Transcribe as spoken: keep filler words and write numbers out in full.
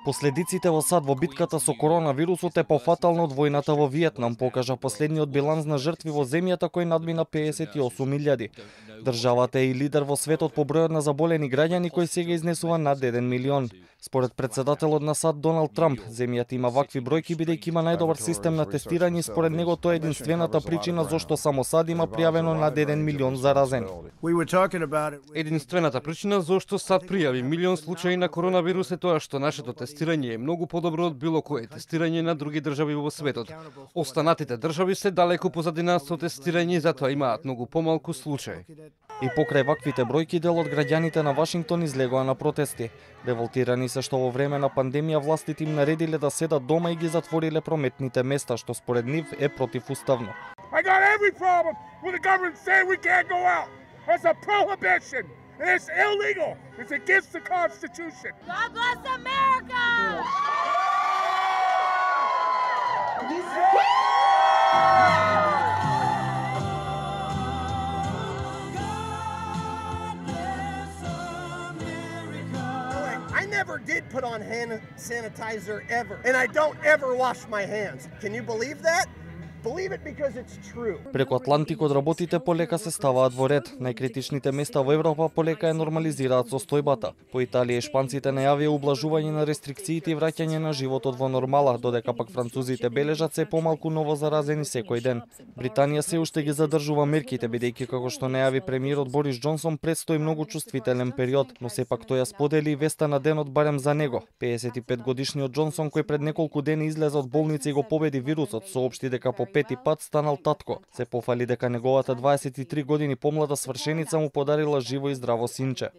Последиците во САД во битката со коронавирусот е пофатално од војната во Виетнам, покажа последниот биланс на жртви во земјата кој надмина песет и осум илјади. Државата е и лидер во светот по бројот на заболени граѓани кој сега изнесува над еден милион. Според председателот на САД Доналд Трамп, земјата има вакви бројки бидејќи има најдобар систем на тестирање и според него тоа е единствената причина зошто само САД има пријавено над еден милион заразени. Единствената причина зошто САД пријави милион случаи на коронавирус е тоа што нашето тестирање е многу подобро од било кое тестирање на други држави во светот. Останатите држави се далеку позади нас со тестирање и затоа имаат многу помалку случаи. И покрај ваквите бројки, дел од граѓаните на Вашингтон излегоа на протести. Револтирани се што во време на пандемија властите им наредиле да седат дома и ги затвориле прометните места, што според нив е противуставно. I got every problem with the government saying we can't go out. It's a prohibition. And it's illegal. It's against the Constitution. God bless America! I never did put on hand sanitizer ever, and I don't ever wash my hands. Can you believe that? Believe it because it's true. Преку Атлантикот работите полека се ставаат во ред. Најкритичните места во Европа полека ја нормализираат состојбата. По Италија и шпанците најавија ублажување на рестрикциите и враќање на животот во нормала, додека пак французите бележат се помалку ново заразени секој ден. Британија се уште ги задржува мерките, бидејќи како што најави премиерот Борис Џонсон предстои многу чувствителен период, но сепак тој ја сподели веста на денот барем за него. пеесет и пет годишниот Џонсон, кој пред неколку дени излезе од болница и го победи вирусот, соопшти дека по пети пат станал татко. Се пофали дека неговата дваесет и три години помлада свршеница му подарила живо и здраво синче.